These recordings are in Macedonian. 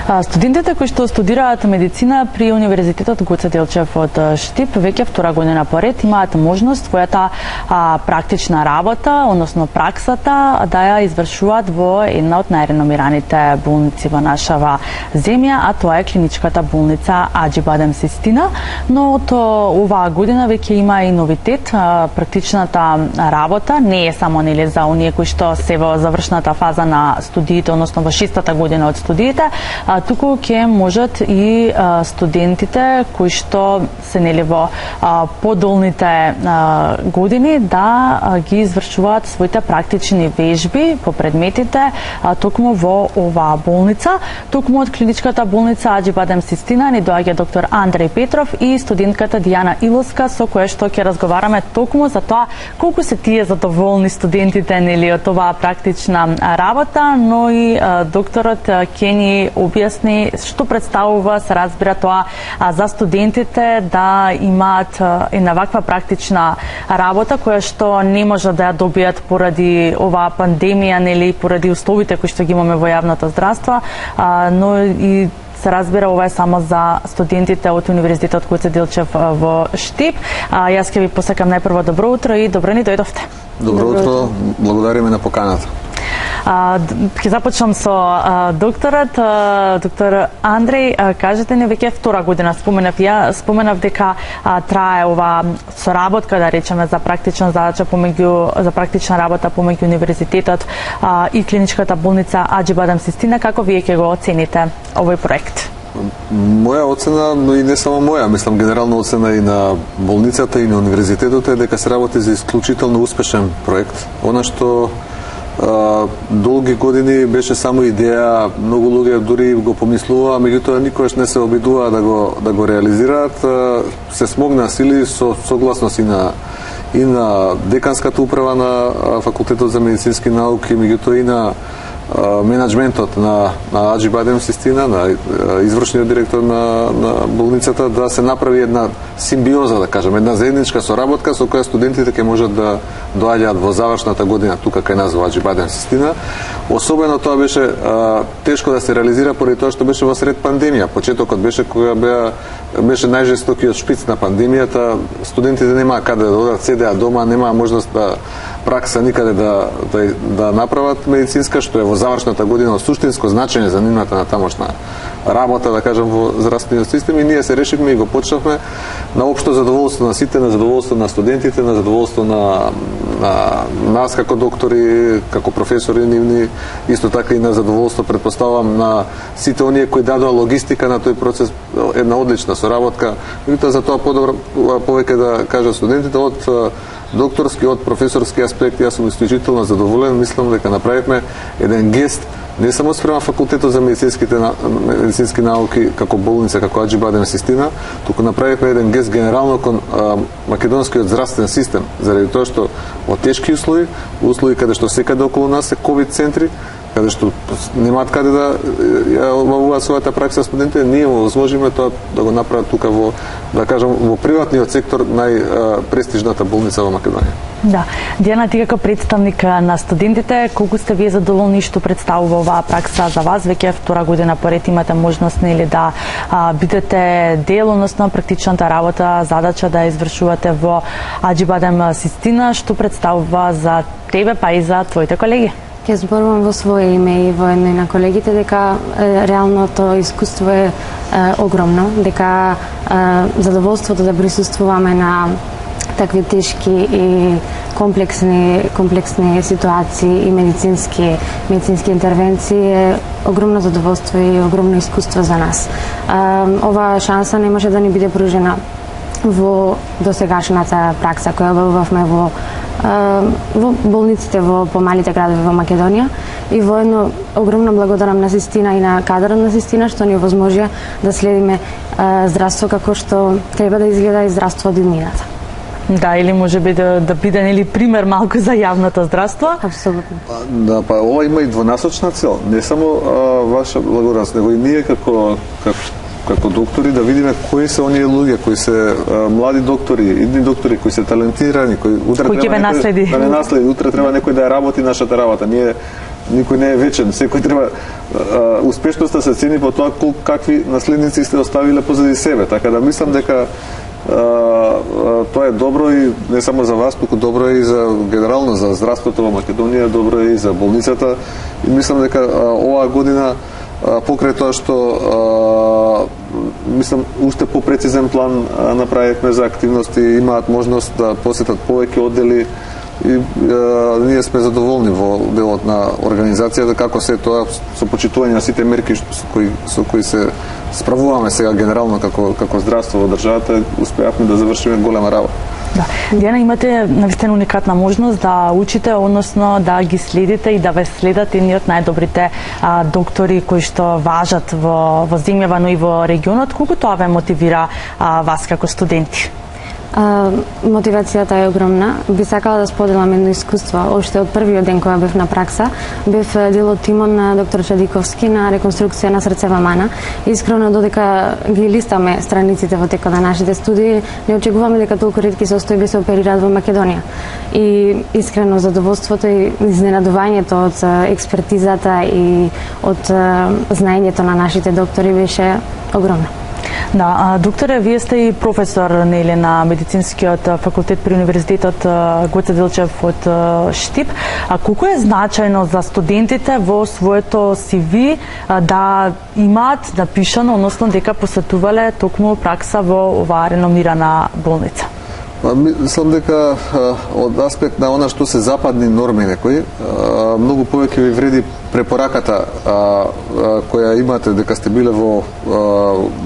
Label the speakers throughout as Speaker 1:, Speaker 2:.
Speaker 1: Студентите кои што студираат медицина при Универзитетот Гоце Делчев од Штип веќе втора година поред имаат можност својата практична работа, односно праксата, да ја извршуваат во една од најреномираните болници во нашава земја, а тоа е клиничката болница Аџи Бадем Систина. Но од оваа година веќе има и новитет. Практичната работа не е само нели за оние кои што се во завршната фаза на студиите, односно во 6-та година од студиите, туку ќе можат и студентите кои што се нели во подолните години да ги извршуваат своите практични вежби по предметите токму во оваа болница. Токму од клиничката болница Аџи Бадем Систина ни доаѓа доктор Андреј Петров и студентката Дијана Иловска, со која што ќе разговараме токму за тоа колку се тие задоволни студентите нели од оваа практична работа, но и докторот ќе ни објасни што представува, се разбира тоа за студентите да имаат една ваква практична работа која што не може да ја добијат поради оваа пандемија, нели поради условите кои што ги имаме во јавното здравство, но и се разбира ова е само за студентите од Универзитетот Гоце Делчев во Штип. Јас ќе ви посакам најпрво добро утро и добро ни дојдовте.
Speaker 2: Добро утро, благодариме на поканата.
Speaker 1: Ќе започнам со докторот. Доктор Андреј, кажете ни, веќе втора година споменав дека трае ова соработка, да речеме, за практична задача за практична работа помеѓу Универзитетот и клиничката болница Аџи Бадем Систина. Како вие ќе го оцените овој проект?
Speaker 2: Моја оцена, но и не само моја, мислам генерална оцена и на болницата и на Универзитетот е дека се работи за исклучително успешен проект. Она што долги години беше само идеја, многу луѓе дури го помислуваа, меѓутоа никогаш не се обидуваа да го реализираат. Се смогна сили со согласност и на деканската управа на Факултетот за медицински науки, меѓутоа и на менеджментот на Аџи Бадем Систина, на извршниот директор на болницата, да се направи една симбиоза, да кажем, една заедничка соработка со која студентите ќе можат да доаѓаат во завршната година тука кај нас во Аџи Бадем Систина. Особено тоа беше тешко да се реализира поради тоа што беше во сред пандемија. Почетокот беше кога беше најжестокиот шпиц на пандемијата. Студентите немаа каде да одат, седеа дома, немаа можност да пракса никаде да направат медицинска, што е во завршната година од суштинско значење за нивната на тамошна работа, да кажем, во здравствениот систем, и ние се решивме и го почнавме на општо задоволство на сите, на задоволство на студентите, на задоволство на нас како доктори, како професори нивни, исто така и на задоволство, предпоставам, на сите оние кои дадоа логистика на тој процес, една одлична соработка. Меѓутоа за тоа повеќе да кажат студентите од докторски, од професорски аспект. Јас сум исклучително задоволен, мислам дека направивме еден гест не само спрема Факултетот за медицински науки како болница, како Аџи Бадем Систина, туку направивме еден гест генерално кон македонскиот здравствен систем, заради тоа што во тешки услови каде што секаде околу нас се ковид центри, каде што немаат каде да обавуваат својата пракса студентите, ние му возможиме тоа да го направат тука во, да кажам, во приватниот сектор, најпрестижната болница во Македонија.
Speaker 1: Да. Дијана, ти како представник на студентите, колку сте вие задоволни што представува оваа пракса за вас? Веќе втора година поред имате можност нели да бидете дел, односно практичната работа, задача да извршувате во Аџи Бадем Систина, што представува за тебе па и за твоите колеги?
Speaker 3: Ќе зборувам во свое име и во име на колегите дека реалното искуство е огромно, дека задоволството да присуствуваме на такви тешки и комплексни ситуации и медицински интервенции е огромно задоволство и огромно искуство за нас. Оваа шанса не може да ни биде пружена во досегашната пракса која обавувавме во болниците во помалите градови во Македонија, и воедно огромно благодарам на Систина и на кадрот на Систина што ни овозможија да следиме здравство како што треба да изгледа и здравство од иднината.
Speaker 1: Да, или може би да биде нели пример малку за јавното здравство?
Speaker 3: Апсолутно.
Speaker 2: Да, па ова има и двонасочна цел. Не само ваша благодарност, него и ние како како доктори да видиме кои се оние луѓе, кои се млади доктори, идни доктори кои се талентирани, кои утре треба
Speaker 1: наследи.
Speaker 2: Да не наследи, утре треба некој да ја работи нашата работа. Никој не е вечен, секој треба успешноста се цени по тоа какви наследници сте оставиле позади себе, така да мислам дека тоа е добро и не само за вас, туку добро е и за генерално за здравството во Македонија, добро е и за болницата и мислам дека оваа година покрај тоа што мислам уште попрецизен план направивме за активности, имаат можност да посетат повеќе оддели и ние сме задоволни во делот на организацијата како се тоа со почитување на сите мерки со кои се справуваме сега генерално како здравство во државата, успеавме да завршиме голема работа.
Speaker 1: Да. Дијана, имате навистина уникатна можност да учите, односно да ги следите и да ве следат едни од најдобрите доктори кои што важат во земјава, но и во регионот. Колку тоа ве мотивира вас како студенти?
Speaker 3: Мотивацијата е огромна. Би сакала да споделам едно искуство. Оште од првиот ден кога бев на пракса, бев дел од тимот на доктор Чадиковски на реконструкција на срцева мана. Искрено, додека ги листаме страниците во текот на нашите студии, не очекуваме дека толку ретки состојби се оперираат во Македонија. И искрено задоволството и изненадувањето од експертизата и од знаењето на нашите доктори беше огромно.
Speaker 1: Да, докторе, вие сте и професор на медицинскиот факултет при Универзитетот Гоце Делчев од Штип. Колку е значајно за студентите во своето CV да имаат напишано, односно дека посетувале токму пракса во оваа реномирана болница?
Speaker 2: Мислам дека од аспект на она што се западни норми некои, многу повеќе ви вреди препораката која имате дека сте биле во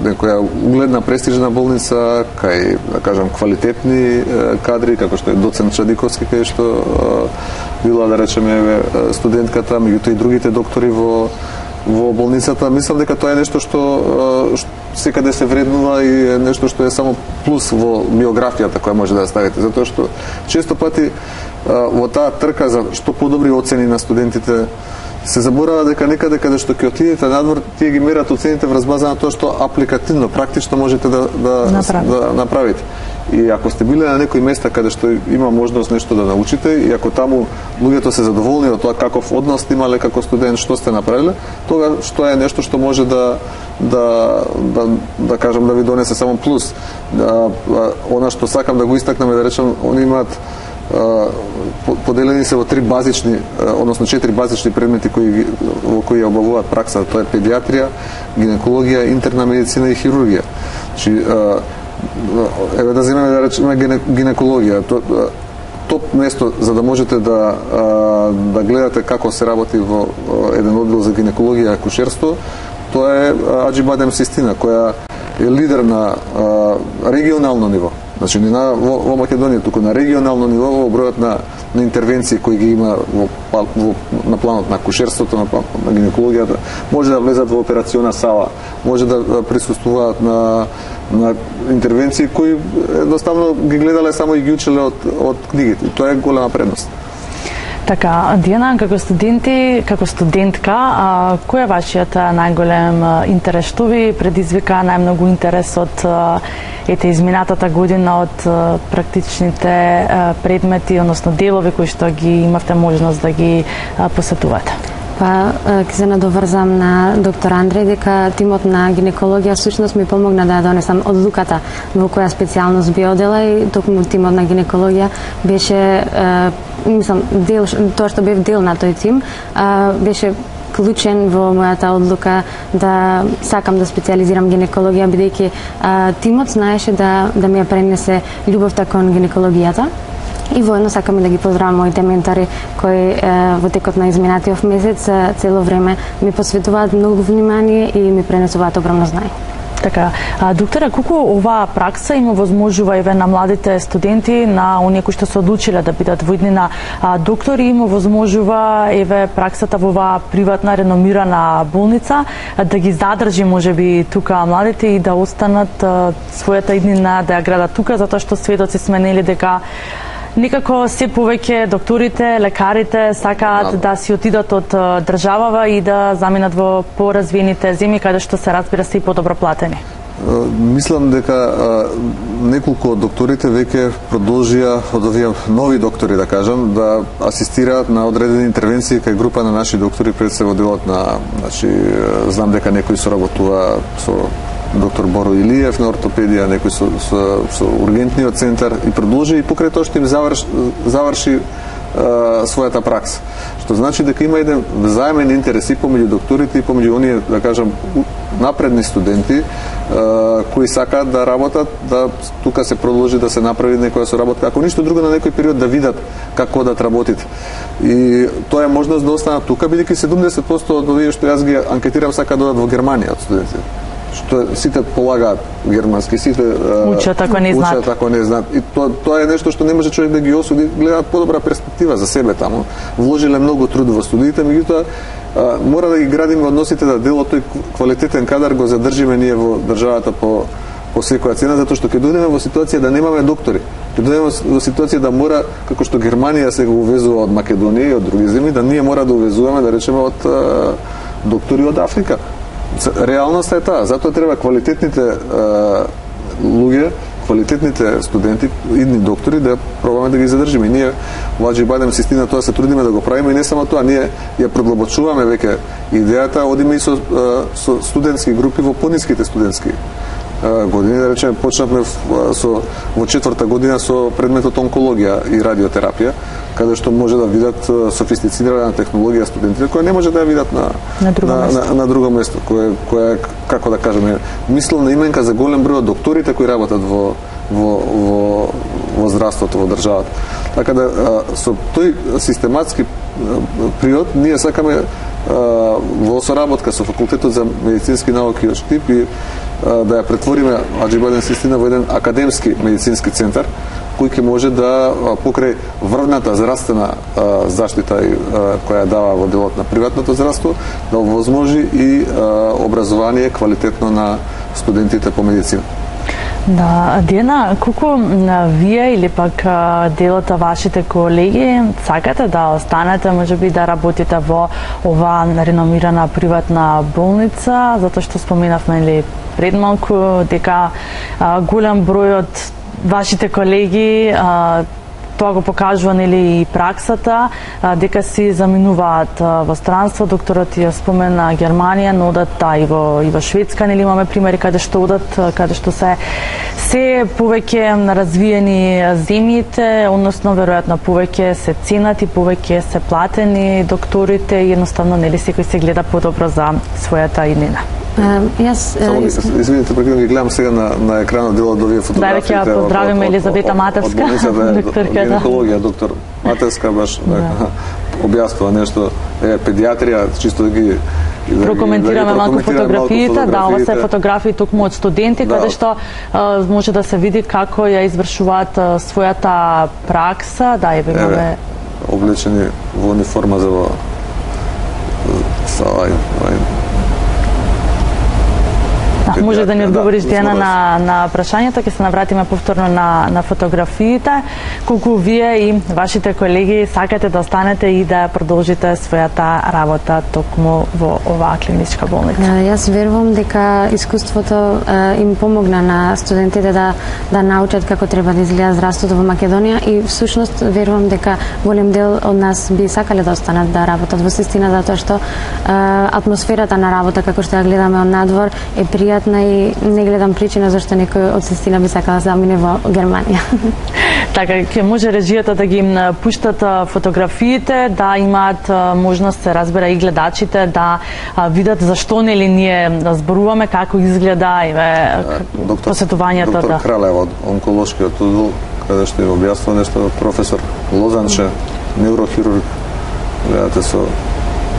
Speaker 2: некоја угледна престижна болница, кај, да кажам, квалитетни кадри, како што е доцент Чадиковски, кај што била, да речеме, студентката, меѓутоа и другите доктори во болницата. Мислам дека тоа е нешто што секаде се вреднува и е нешто што е само плюс во биографијата која може да ја ставите, затоа што често пати во таа трка за што подобри оцени на студентите се заборава дека некаде каде што ќе отидете надвор, тие ги мерат оцените врз база на тоа што апликативно, практично можете да направите. И ако сте биле на некои места каде што има можност нешто да научите и ако таму луѓето се задоволни од тоа каков однос имале како студент, што сте направиле, тога што е нешто што може да кажам да ви донесе само плюс. Она што сакам да го истакнам е да речам, они имаат поделени се во 4 базични предмети во кои обавуваат пракса, тоа е педиатрија, гинекологија, интерна медицина и хирургија. Значи, еве да земеме да речеме гинекологија, топ место за да можете да гледате како се работи во еден оддел за гинекологија и акушерство, тоа е Аџибадем Систина, која е лидер на регионално ниво. Значи не во Македонија, туку на регионално ниво во бројот на интервенции кои ги има на планот на акушерството, на гинекологијата, може да влезат во операциона сала, може да присуствуваат на интервенции кои едноставно ги гледале само и ги учеле од книгите. Тоа е голема предност.
Speaker 1: Така, Дијана, како студенти, како студентка, кој е вашиот најголем интерес? Што ви предизвика најмногу интерес од изминатата година од практичните предмети, односно делови кои што ги имавте можност да ги посетувате?
Speaker 3: Ќе се надоврзам на доктор Андреј дека тимот на гинекологија всушност ми помогна да ја донесам одлуката во која специјалност би одела и токму тимот на гинекологија беше мислам тоа што бев дел на тој тим беше клучен во мојата одлука да сакам да специјализирам гинекологија бидејќи тимот знаеше да ми ја пренесе љубовта кон гинекологијата. И воедно сакам да ги поздравам моите ментори кои во текот на изминатиот месец цело време ми посветуваат многу внимание и ми пренесуваат огромно знаење.
Speaker 1: Така, докторе, колку оваа пракса има возможува еве на младите студенти, на оние кои што се одлучиле да бидат во иднина доктори, има возможува еве праксата во оваа приватна реномирана болница да ги задржи можеби тука младите и да останат својата иднина да ја градат тука, затоа што сведоци сме нели дека Некако се повеќе докторите, лекарите сакаат да си отидат од државава и да заминат во поразвиените земји каде што се разбира се и подобро платени.
Speaker 2: Мислам дека неколку од докторите веќе продолжија, од овие нови доктори да кажам, да асистираат на одредени интервенции кај група на наши доктори пред се во делот на, значи, знам дека некои соработува со доктор Боро Илиев на ортопедија, некој со ургентниот центар и продолжи и покрај тоа што им заврши својата пракса. Што значи дека има еден взаемен интерес и помеѓу докторите и помеѓу оние, да кажам, напредни студенти кои сакаат да работат, да тука се продолжи да се направи некоја соработка, ако ништо друго на некој период да видат како да работите. И тоа е можност да останат тука, бидејќи 70% од овие што јас ги анкетирам сакаат да одат во Германија од студентите. Што сите полагаат германски, сите
Speaker 1: учат ако не знаат.
Speaker 2: Учат ако не знаат. И тоа е нешто што не може човек да ги осуди, гледаат подобра перспектива за себе таму. Вложиле многу труд во студиите, меѓутоа мора да ги градиме односите да дел од тој квалитетен кадар го задржиме ние во државата по секоја цена, затоа што ќе дојдеме во ситуација да немаме доктори. Ќе дојдеме во ситуација да мора, како што Германија се го увезува од Македонија и од други земји, да ние мора да увезуваме, да речеме, од доктори од Африка. Реалноста е таа, затоа треба квалитетните луѓе, квалитетните студенти, идни доктори да пробаме да ги задржиме. И ние во Аџи Бадем Систина тоа се трудиме да го правиме и не само тоа, ние ја продлабочуваме веќе идејата, одиме и со студентски групи во пониските студентски години, да речеме, почнавме во 4-та година со предметот онкологија и радиотерапија, каде што може да видат софистицирана технологија студентите, која не може да ја видат на друго место, која како да кажеме, мисловна именка за голем број од докторите кои работат во здравството во државата. Така да со тој систематски приод ние сакаме во соработка со факултетот за медицински науки од Штип и да ја претвориме Аџи Бадем Систина во еден академски медицински центар кој ќе може да покрај врвната здравствена заштита која дава во делот на приватното здравство да овозможи и образование квалитетно на студентите по медицина.
Speaker 1: Да, Диана, колку вие или пак делот од вашите колеги сакате да останете, можеби да работите во оваа реномирана приватна болница, затоа што споменавме пред малку дека голем број од вашите колеги тоа го покажува и праксата, дека си заминуваат во странство. Докторот ја спомена Германија, но одат и во Шведска, имаме примери каде што одат, каде што се повеќе развиени земјите, односно веројатно повеќе се ценат и повеќе се платени докторите и едноставно секој се гледа подобро за својата иднина.
Speaker 2: Извините, прекинам ги гледам сега на екранот дел од овие фотографии.
Speaker 1: Да, веќе поздравиме Елизавета Матевска, докторка,
Speaker 2: гинекологија, доктор Матевска баш објаснува нешто, педиатрија, чисто да ги
Speaker 1: прокоментираме малку фотографиите, да, ова се фотографии токму од студенти, каде што може да се види како ја извршуваат својата пракса, да, имаме
Speaker 2: облечени во униформа за
Speaker 1: може да ни одговориш, Диана, на прашањето, ќе се навратиме повторно на фотографиите. Колку вие и вашите колеги сакате да останете и да продолжите својата работа токму во оваа клиничка болница?
Speaker 3: Јас верувам дека искуството им помогна на студентите да научат како треба да изгледа здравството во Македонија и всушност верувам дека голем дел од нас би сакале да останат да работат во Систина, затоа што атмосферата на работа, како што ја гледаме од надвор, е пријатна и не гледам причина зашто некој од Систина би сакала да замине во Германија.
Speaker 1: Така, ќе може режијата да ги пуштат фотографиите, да имаат можност, се разбира и гледачите, да видат зашто нели ние зборуваме, како изгледа посетувањето.
Speaker 2: Доктор Кралева од онколошкиот оддел, каде што им објаснува нешто, професор Лозанче, неурохирург, гледате со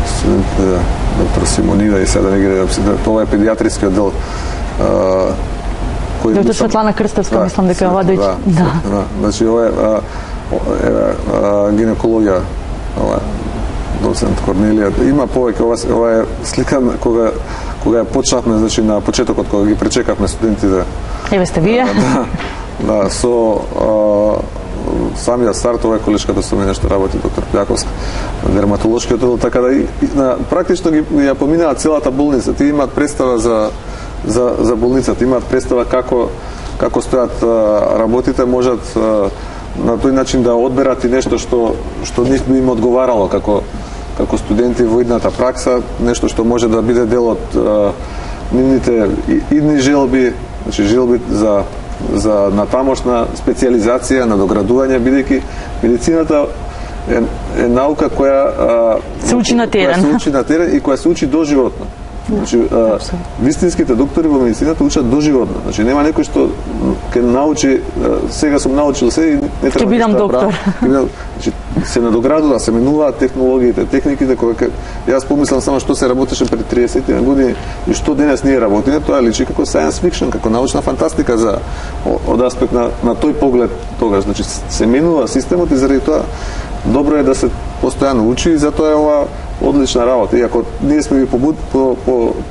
Speaker 2: студентите, доктор Симонива и сега да не ги гледам, тоа е педиатриски оддел.
Speaker 1: Доктор Светлана Крстевска, мислам дека ова дојде.
Speaker 2: Да. Значи ова е гинекологија, ова доцент Корнелија. Има повеќе, ова е слика кога ја почнавме, значи на почетокот кога ги пречекавме студентите.
Speaker 1: Еве сте вие.
Speaker 2: Да, со самиот старт, ова е колешката со мене што работи доктор Пјаковска, дерматолошкиот оддел, така да практично ја поминаа целата болница. Тие имаат представа за болницата, имаат представа како стојат работите, можат на тој начин да одберат и нешто што нив би им одговарало како студенти во идната пракса, нешто што може да биде дел од нивните идни желби, значи желби за натамошна специјализација, надоградување, бидејќи медицината е наука која
Speaker 1: се учи на терен
Speaker 2: и која се учи доживотно. Значи, вистинските доктори во медицината учат доживотно. Значи, нема некој што ќе научи, сега сум научил се и не треба
Speaker 1: ќе бидам доктор.
Speaker 2: Значи, се надоградува, се менуваат технологиите, техниките, кога јас помислам само што се работеше пред 30 години и што денес ние работиме, тоа личи како science fiction, како научна фантастика од аспект на тој поглед тогаш. Значи, се менува системот и заради тоа добро е да се постојано учи и затоа е ова одлична работа. И ако ние сме ви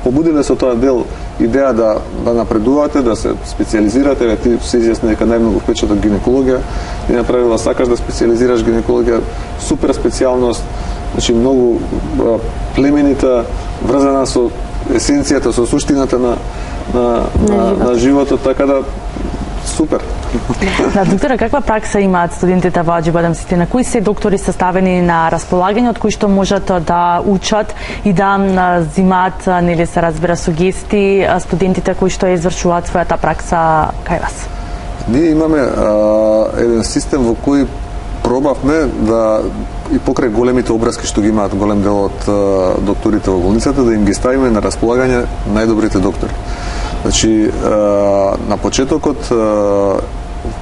Speaker 2: побудиле со тоа дел идеја да напредувате, да се специјализирате, ти се изјасни дека најмногу впечаток гинекологија, ти направила сакаш да специјализираш гинекологија, супер специјалност, значи многу племенита, врзана со есенцијата, со суштината на животот, така да супер.
Speaker 1: Да, доктора, каква пракса имаат студентите во Аџи Бадам Сити? На кои се доктори се ставени на располагање, од кои што можат да учат и да зимаат, нели се разбира, сугести студентите кои што извршуваат својата пракса кај вас?
Speaker 2: Ние имаме еден систем во кој пробавме да и покрај големите образки што ги имаат голем дел од докторите во болницата, да им ги ставиме на располагање најдобрите доктори. Значи, на почетокот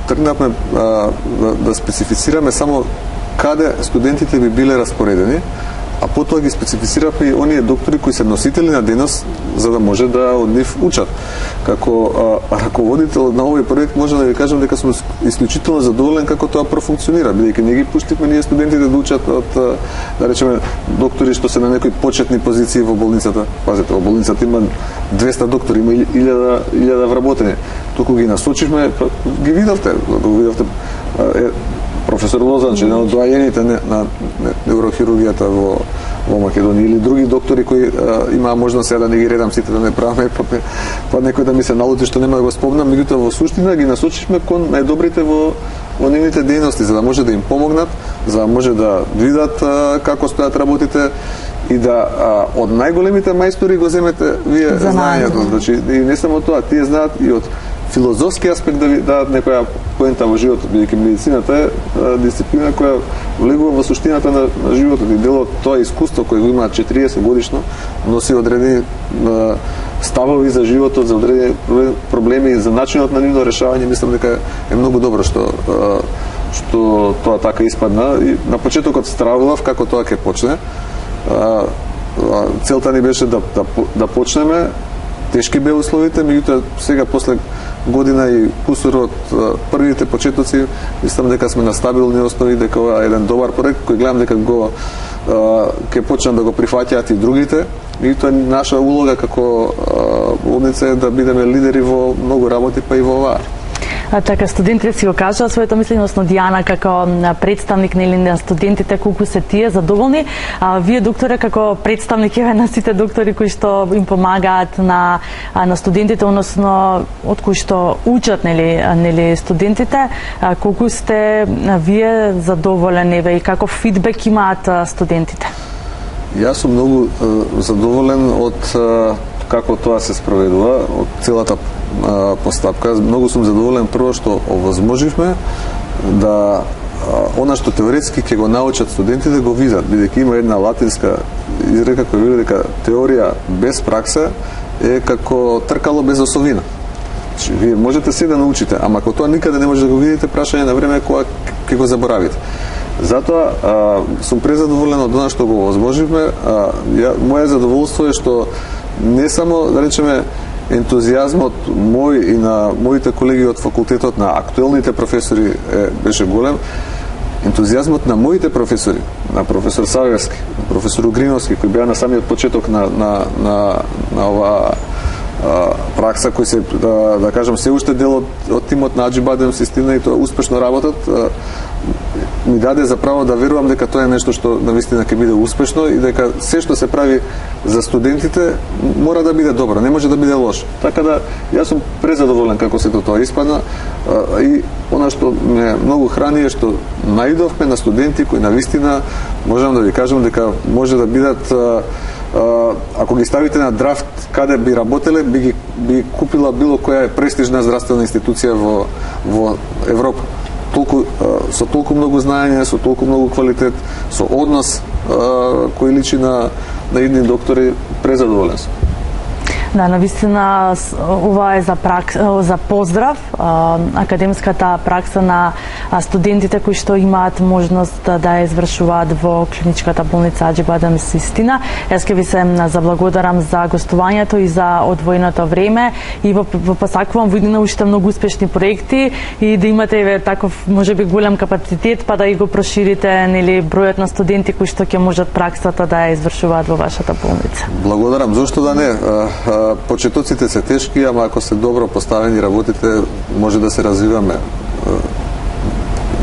Speaker 2: тргнавме да специфицираме само каде студентите би биле распоредени, а потоа ги специфициравме и оние доктори кои се носители на денос, за да може да од нив учат. Како раководител на овој проект може да ви кажам дека сум исклучително задоволен како тоа профункционира, бидејќи не ги пуштивме ние студентите да учат од, да речеме, доктори што се на некои почетни позиции во болницата. Пазете, во болницата има 200 доктори, има 1000 вработени. Туку ги насочивме, ги видовте професор Лозанч, еден од доајените на неврохирургијата во Македонија, или други доктори кои имаа можност сега да не ги редам сите, да не праваме, па некој да ми се налути што нема да го спомнам, меѓутоа во суштина ги насочивме кон најдобрите во нивните дејности, за да може да им помогнат, за да може да видат како стојат работите и да од најголемите мајстори го земете вие знаењето. Значи, и не само тоа, тие знаат и од филозофски аспект да ви дадат некоја поента во животот, бидејќи медицината е дисциплина која влегува во суштината на животот и дел од тоа искуство кој го имаат 40 годишно носи одредени ставови за животот, за одредени проблеми и за начинот на нивно решавање. Мислам дека е многу добро што тоа така испадна. И на почетокот стравував како тоа ќе почне. Целта ни беше да почнеме. Тешки беа условите, меѓутоа сега после година и кусур од првите почетоци, мислам дека сме на стабилни основи, дека ова е еден добар проект кој гледам дека ќе почнат да го прифаќаат и другите. Меѓутоа наша улога како болница е да бидеме лидери во многу работи, па и во оваа.
Speaker 1: Така, студентите си го кажаа своето мислење, односно Дијана како представник на студентите, колку се тие задоволни. Вие, докторе, како представник на сите доктори кои што им помагаат на студентите, односно од кои што учат нели студентите, колку сте вие задоволени и каков фидбек имаат студентите?
Speaker 2: Јас сум многу задоволен од како тоа се спроведува, од целата постапка. Многу сум задоволен прво што овозможивме да она што теоретски ќе го научат студентите го видат, бидејќи има една латинска изрека која вели дека теорија без пракса е како тркало без осовина. Значи, вие можете се да научите, ама ако тоа никаде не може да го видите, прашање на време кога ќе го заборавите. Затоа сум презадоволен од она што го овозможивме. Моје задоволство е што не само, да речеме, ентузијазмот мој и на моите колеги од факултетот, на актуелните професори беше голем. Ентузијазмот на моите професори, на професор Саверски, на професор Угриновски, кои беа на самиот почеток на оваа пракса, кои се, да кажам, се уште дел од тимот на Аџи Бадем Систина и тоа успешно работат, ми даде за право да верувам дека тоа е нешто што навистина ќе биде успешно и дека се што се прави за студентите мора да биде добро, не може да биде лошо. Така да јас сум презадоволен како сето тоа испадна и она што ме многу храни е што наидовме на студенти кои навистина можам да ви кажам дека може да бидат ако ги ставите на драфт каде би работеле, би купила било која престижна здравствена институција во Европа. Со толку многу знаење, со толку многу квалитет, со однос кој личи на едни доктори, презадоволен сум.
Speaker 1: Да, навистина ова е за поздрав, академската пракса на студентите кои што имаат можност да ја извршуваат во клиничката болница Аџи-Бадем Систина. Јас ќе ви се заблагодарам за гостувањето и за одвоеното време и посакувам во иднина уште многу успешни проекти и да имате таков можеби голем капацитет па да и го проширите нели бројот на студенти кои што ќе можат праксата да ја извршуваат во вашата болница.
Speaker 2: Благодарам, зошто да не? Почетоците се тешки, ама ако се добро поставени работите, може да се развиваме.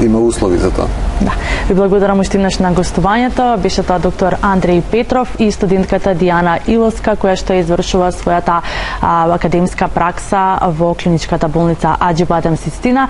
Speaker 2: Има услови за тоа.
Speaker 1: Да. Ви благодарам уште еднаш на гостувањето. Беше тоа доктор Андреј Петров и студентката Дијана Иловска, која што извршува својата академска пракса во клиничката болница Аџи-Бадем Систина.